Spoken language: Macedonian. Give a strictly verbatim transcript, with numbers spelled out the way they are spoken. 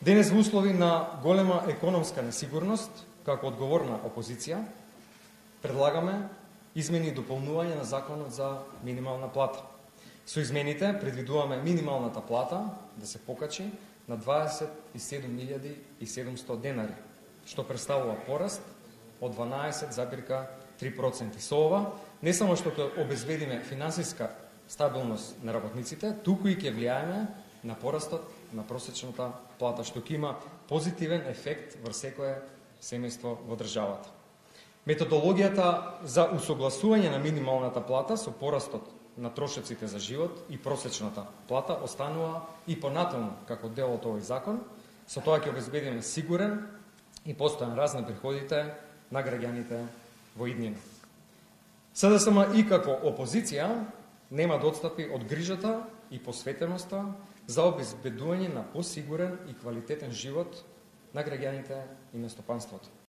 Денес во услови на голема економска несигурност, како одговорна опозиција, предлагаме измени и дополнување на Законот за минимална плата. Со измените предвидуваме минималната плата да се покачи на дваесет и седум илјади и седумстотини денари, што представува пораст од дванаесет зарез три проценти. Со ова, не само што ќе обезбедиме финансиска стабилност на работниците, туку и ќе влијаеме на порастот на просечната плата, што ќе има позитивен ефект врз секое семејство во државата. Методологијата за усогласување на минималната плата со порастот на трошоците за живот и просечната плата останува и понатаму како дел од овој закон. Со тоа ќе обезбедиме сигурен и постојан раст на приходите на граѓаните во иднина. СДСМ и како опозиција нема да отстапи од грижата и посветеноста за обезбедување на посигурен и квалитетен живот на граѓаните и на стопанството.